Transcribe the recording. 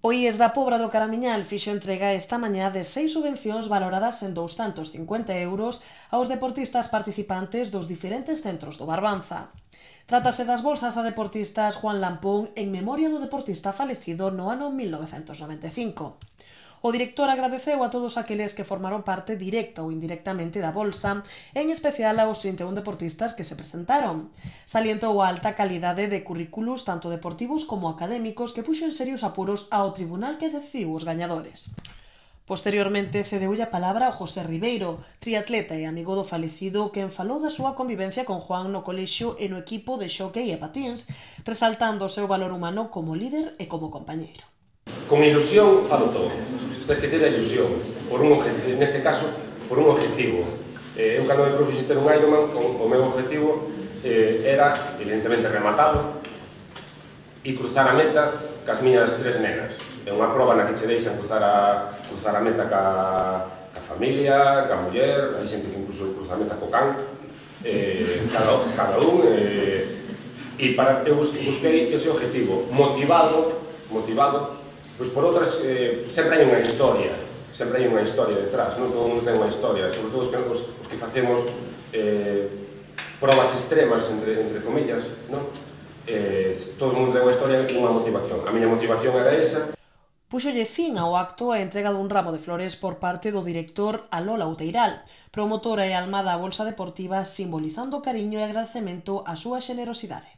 O IES da Pobra do Caramiñal fixo entrega esta mañá de 6 subvencións valoradas en 250 euros aos deportistas participantes dos diferentes centros do Barbanza. Trátase das bolsas a deportistas Juan Lampón en memoria do deportista falecido no ano 1995. O director agradeceu a todos aqueles que formaron parte directa ou indirectamente da bolsa, en especial aos 31 deportistas que se presentaron. Salientou a alta calidade de currículos tanto deportivos como académicos que puxo en serios apuros ao tribunal que decidiu os gañadores. Posteriormente cedeulle a palabra ao José Ribeiro, triatleta e amigo do falecido, quen falou da súa convivencia con Juan no colexio e no equipo de xockey e patíns, resaltando o seu valor humano como líder e como compañeiro. Con ilusión falo todo. Tens que ter a ilusión, neste caso, por un objetivo. Eu, cando me propuxen ter un Ironman, o meu objetivo era, evidentemente, rematalo e cruzar a meta cas miñas 3 nenas. É unha proba na que che deixan cruzar a meta ca familia, ca muller, hai xente que incluso cruza a meta co can, cada un, e eu busquei ese objetivo, motivado, pois por outras, sempre hai unha historia detrás, non todo mundo ten unha historia, sobre todo os que facemos probas extremas, entre comillas, non? Todo mundo ten unha historia e unha motivación. A miña motivación era esa. Púxolle fin ao acto a entrega dun ramo de flores por parte do director Alola Outeiral, promotora e alma da Bolsa Deportiva, simbolizando o cariño e agradecemento á súa xenerosidade.